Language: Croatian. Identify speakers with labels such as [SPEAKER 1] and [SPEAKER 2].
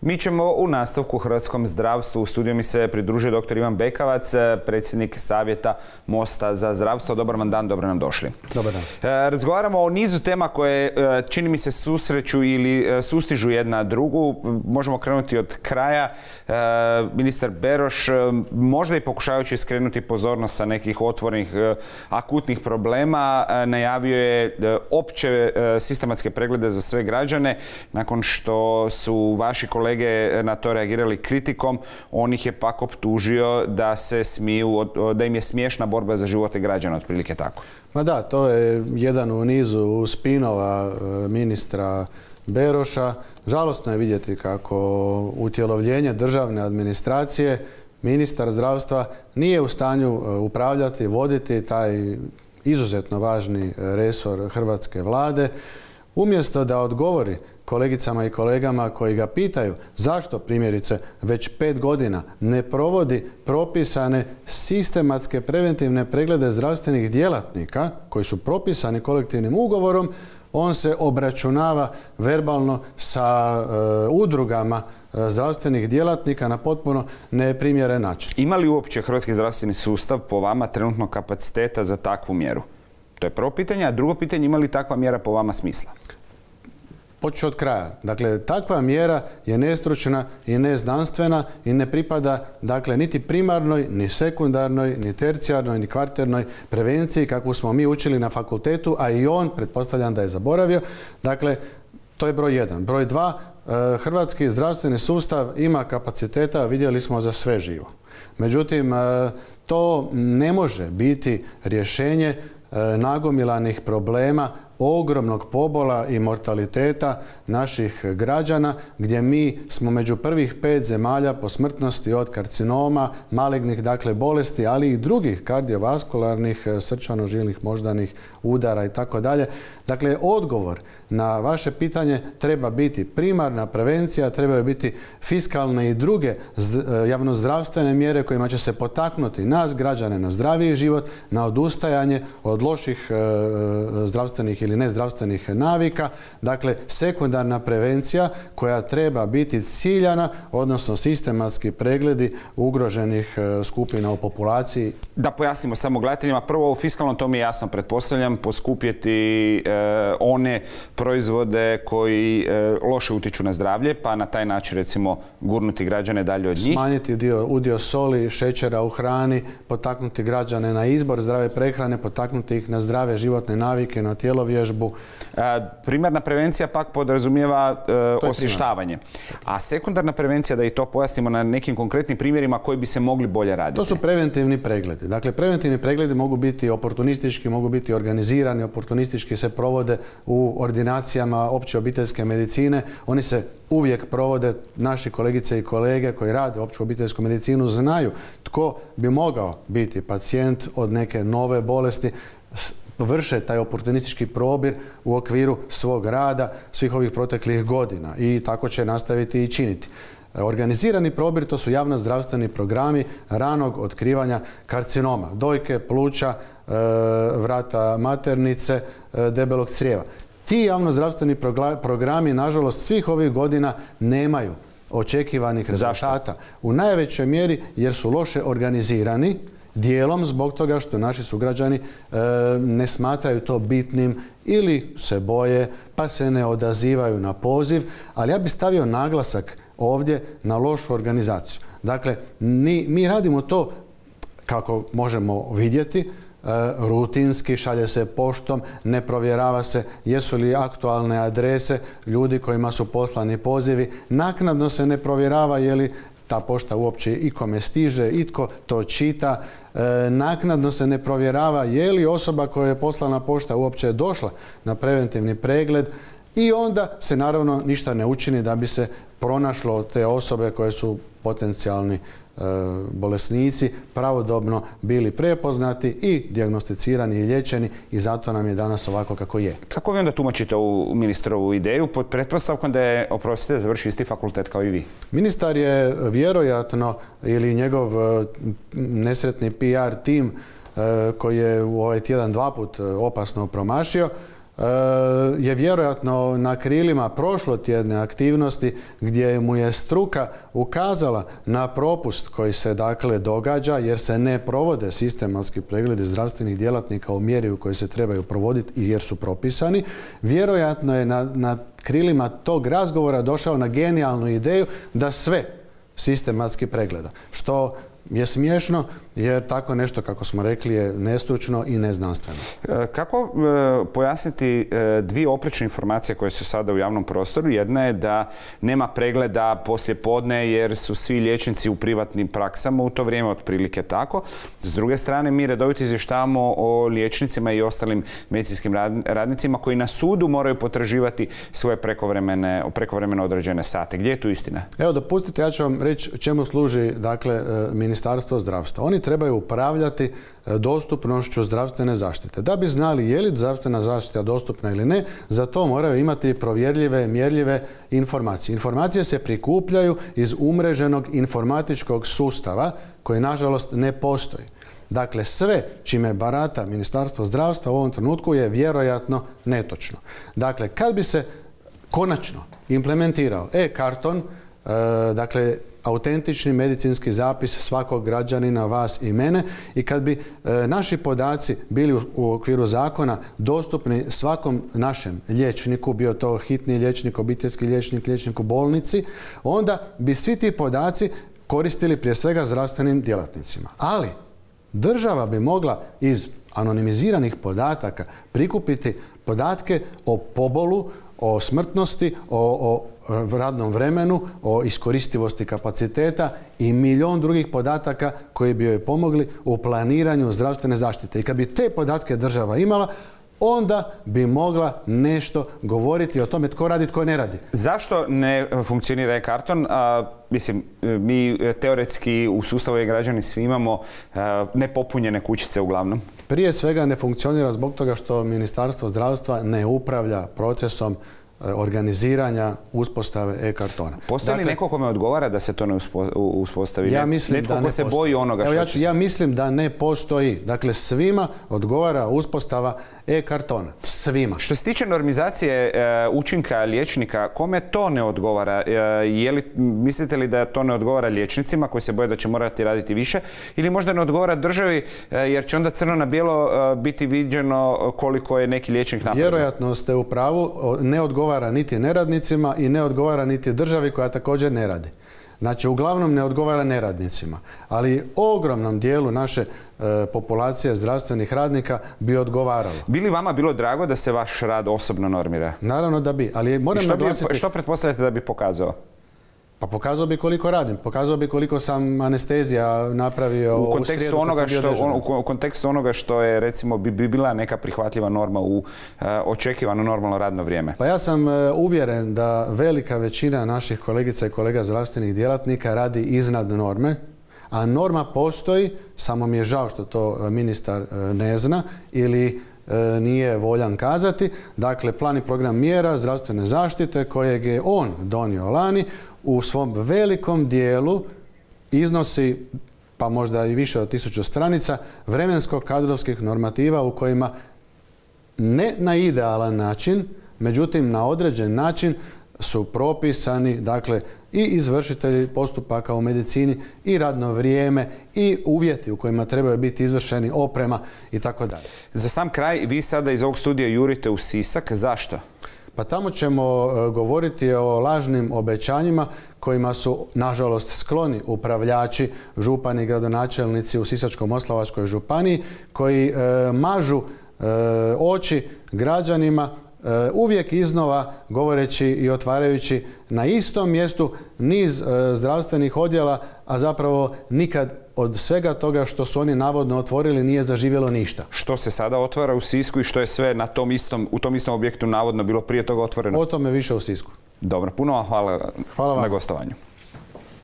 [SPEAKER 1] Mi ćemo u nastavku hrvatskom zdravstvu. U studiju mi se pridružio dr. Ivan Bekavac, predsjednik Savjeta Mosta za zdravstvo. Dobar vam dan, dobro nam došli.
[SPEAKER 2] Dobar dan.
[SPEAKER 1] Razgovaramo o nizu tema koje, čini mi se, susreću ili sustižu jedna drugu. Možemo krenuti od kraja. Ministar Beroš, možda i pokušavajući skrenuti pozornost sa nekih otvorenih akutnih problema, najavio je opće sistematske preglede za sve građane. Nakon što su vaši kolege na to reagirali kritikom, on ih je pak optužio da se smiju, da im je smiješna borba za živote građana, otprilike tako.
[SPEAKER 2] Ma da, to je jedan u nizu spinova ministra Beroša. Žalosno je vidjeti kako utjelovljenje državne administracije, ministar zdravstva nije u stanju upravljati, voditi taj izuzetno važni resor hrvatske vlade. Umjesto da odgovori kolegicama i kolegama koji ga pitaju zašto primjerice već 5 godina ne provodi propisane sistematske preventivne preglede zdravstvenih djelatnika koji su propisani kolektivnim ugovorom, on se obračunava verbalno sa udrugama zdravstvenih djelatnika na potpuno neprimjeren način.
[SPEAKER 1] Ima li uopće hrvatski zdravstveni sustav po vama trenutno kapaciteta za takvu mjeru? To je prvo pitanje, a drugo pitanje, ima li takva mjera po vama smisla?
[SPEAKER 2] Počet od kraja. Dakle, takva mjera je nestručna i neznanstvena i ne pripada, dakle, niti primarnoj, ni sekundarnoj, ni tercijarnoj, ni kvarternoj prevenciji kakvu smo mi učili na fakultetu, a i on, pretpostavljam da je zaboravio. Dakle, to je broj 1. Broj 2, hrvatski zdravstveni sustav ima kapaciteta, vidjeli smo, za sve živo. Međutim, to ne može biti rješenje nagomilanih problema, ogromnog pobola i mortaliteta naših građana, gdje mi smo među prvih 5 zemalja po smrtnosti od karcinoma, malignih, dakle, bolesti, ali i drugih kardiovaskularnih, srčano-žilnih, moždanih udara i tako dalje. Dakle, odgovor na vaše pitanje treba biti primarna prevencija, trebaju biti fiskalne i druge javnozdravstvene mjere kojima će se potaknuti nas, građane, na zdraviji život, na odustajanje od loših zdravstvenih ili nezdravstvenih navika. Dakle, sekundarna prevencija koja treba biti ciljana, odnosno sistematski pregledi ugroženih skupina u populaciji.
[SPEAKER 1] Da pojasnimo samo gledateljima. Prvo, u fiskalnom, to mi je jasno, pretpostavljam, poskupjeti one proizvode koji loše utječu na zdravlje, pa na taj način, recimo, gurnuti građane dalje od njih.
[SPEAKER 2] Smanjiti udio soli, šećera u hrani, potaknuti građane na izbor zdrave prehrane, potaknuti ih na zdrave životne navike, na tjelovježbu.
[SPEAKER 1] Primarna prevencija pak podrazumijeva osvještavanje. A sekundarna prevencija, da i to pojasnimo na nekim konkretnim primjerima koji bi se mogli bolje raditi.
[SPEAKER 2] To su preventivni pregledi. Dakle, preventivni pregledi mogu biti oportunistički, mogu biti organizirani, oportunistički se provode u ordinacijama opće obiteljske medicine. Oni se uvijek provode, naši kolegice i kolege koji rade opću obiteljsku medicinu znaju tko bi mogao biti pacijent od neke nove bolesti, vrše taj oportunistički probir u okviru svog rada svih ovih proteklih godina i tako će nastaviti i činiti. Organizirani probir, to su javnozdravstveni programi ranog otkrivanja karcinoma, dojke, pluća, vrata maternice, debelog crijeva. Ti javnozdravstveni programi, nažalost, svih ovih godina nemaju očekivanih rezultata. U najvećoj mjeri jer su loše organizirani, dijelom zbog toga što naši sugrađani ne smatraju to bitnim ili se boje pa se ne odazivaju na poziv, ali ja bih stavio naglasak ovdje na lošu organizaciju. Dakle, mi radimo to, kako možemo vidjeti, rutinski, šalje se poštom, ne provjerava se jesu li aktualne adrese ljudi kojima su poslani pozivi, naknadno se ne provjerava je li ta pošta uopće ikome stiže, itko to čita, naknadno se ne provjerava je li osoba koja je poslana pošta uopće došla na preventivni pregled i onda se naravno ništa ne učini da bi se pronašlo te osobe koje su potencijalni bolesnici pravodobno bili prepoznati i dijagnosticirani i liječeni i zato nam je danas ovako kako je.
[SPEAKER 1] Kako vi onda tumačite ovu ministrovu ideju pod pretpostavkom da je, oprostite, završio isti fakultet kao i vi?
[SPEAKER 2] Ministar je vjerojatno ili njegov nesretni PR tim koji je u ovaj tjedan 2 put opasno promašio, je vjerojatno na krilima prošlotjedne aktivnosti gdje mu je struka ukazala na propust koji se dakle događa jer se ne provode sistematski pregledi zdravstvenih djelatnika u mjeri u kojoj se trebaju provoditi i jer su propisani. Vjerojatno je na krilima tog razgovora došao na genijalnu ideju da sve sistematski pregleda. Što je smiješno jer tako nešto, kako smo rekli, je nestručno i neznanstveno.
[SPEAKER 1] Kako pojasniti dvije oprečne informacije koje su sada u javnom prostoru? Jedna je da nema pregleda poslije podne jer su svi liječnici u privatnim praksama u to vrijeme, otprilike tako. S druge strane, mi redovito izvještavamo o liječnicima i ostalim medicinskim radnicima koji na sudu moraju potraživati svoje prekovremeno određene sate. Gdje je tu istina?
[SPEAKER 2] Evo, dopustite, ja ću vam reći čemu služi dakle Ministarstvo zdravstva. Oni trebaju upravljati dostupnošću zdravstvene zaštite. Da bi znali je li zdravstvena zaštita dostupna ili ne, za to moraju imati provjerljive, mjerljive informacije. Informacije se prikupljaju iz umreženog informatičkog sustava koji nažalost ne postoji. Dakle, sve čime barata Ministarstvo zdravstva u ovom trenutku je vjerojatno netočno. Dakle, kad bi se konačno implementirao e-karton, dakle, autentični medicinski zapis svakog građanina, vas i mene, i kad bi naši podaci bili u okviru zakona dostupni svakom našem liječniku, bio to hitni liječnik, obiteljski liječnik, liječnik u bolnici, onda bi svi ti podaci koristili prije svega zdravstvenim djelatnicima. Ali država bi mogla iz anonimiziranih podataka prikupiti podatke o pobolu, o smrtnosti, o radnom vremenu, o iskoristivosti kapaciteta i milion drugih podataka koji bi joj pomogli u planiranju zdravstvene zaštite. I kad bi te podatke država imala, onda bi mogla nešto govoriti o tome tko radi, tko ne radi.
[SPEAKER 1] Zašto ne funkcionira e-karton? Mislim, mi teoretski u sustavu e-građani svi imamo nepopunjene kućice uglavnom.
[SPEAKER 2] Prije svega ne funkcionira zbog toga što Ministarstvo zdravstva ne upravlja procesom organiziranja uspostave e-kartona.
[SPEAKER 1] Postoji li neko kome odgovara da se to ne uspostavi?
[SPEAKER 2] Ja mislim
[SPEAKER 1] netko
[SPEAKER 2] da ne
[SPEAKER 1] ko se
[SPEAKER 2] postoji.
[SPEAKER 1] boji onoga što će se...
[SPEAKER 2] Ja mislim da ne postoji. Dakle, svima odgovara uspostava e-kartona. Svima.
[SPEAKER 1] Što se tiče normizacije učinka liječnika, kome to ne odgovara? Mislite li da to ne odgovara liječnicima koji se boje da će morati raditi više? Ili možda ne odgovara državi jer će onda crno na bijelo biti viđeno koliko je neki liječnik napravio?
[SPEAKER 2] Vjerojatno ste u pravu. Ne odgovara niti neradnicima i ne odgovara niti državi koja također ne radi. Znači, uglavnom ne odgovara neradnicima, ali ogromnom dijelu naše populacije zdravstvenih radnika bi odgovaralo.
[SPEAKER 1] Bi li vama bilo drago da se vaš rad osobno normira?
[SPEAKER 2] Naravno da bi, ali moram naglasiti...
[SPEAKER 1] Što pretpostavljate da bi pokazao?
[SPEAKER 2] Pa pokazao bi koliko radim, pokazao bi koliko sam anestezija napravio u srijedu kad sam bio dežuran.
[SPEAKER 1] U kontekstu onoga što je, recimo, bi bila neka prihvatljiva norma u očekivano normalno radno vrijeme.
[SPEAKER 2] Pa ja sam uvjeren da velika većina naših kolegica i kolega zdravstvenih djelatnika radi iznad norme, a norma postoji, samo mi je žao što to ministar ne zna ili nije voljan kazati. Dakle, plan i program mjera zdravstvene zaštite kojeg je on donio lani u svom velikom dijelu iznosi, pa možda i više od 1000 stranica, vremensko-kadrovskih normativa u kojima ne na idealan način, međutim na određen način su propisani, dakle, i izvršitelji postupaka u medicini i radno vrijeme i uvjeti u kojima trebaju biti izvršeni, oprema i tako dalje.
[SPEAKER 1] Za sam kraj, vi sada iz ovog studija jurite u Sisak. Zašto?
[SPEAKER 2] Pa tamo ćemo govoriti o lažnim obećanjima kojima su, nažalost, skloni upravljači, župani i gradonačelnici u Sisačko-moslavačkoj županiji koji mažu oči građanima uvijek iznova govoreći i otvarajući na istom mjestu niz zdravstvenih odjela, a zapravo nikad od svega toga što su oni navodno otvorili nije zaživjelo ništa.
[SPEAKER 1] Što se sada otvara u Sisku i što je sve u tom istom objektu navodno bilo prije toga otvoreno?
[SPEAKER 2] O tome više u Sisku.
[SPEAKER 1] Dobro, puno vam hvala na gostovanju.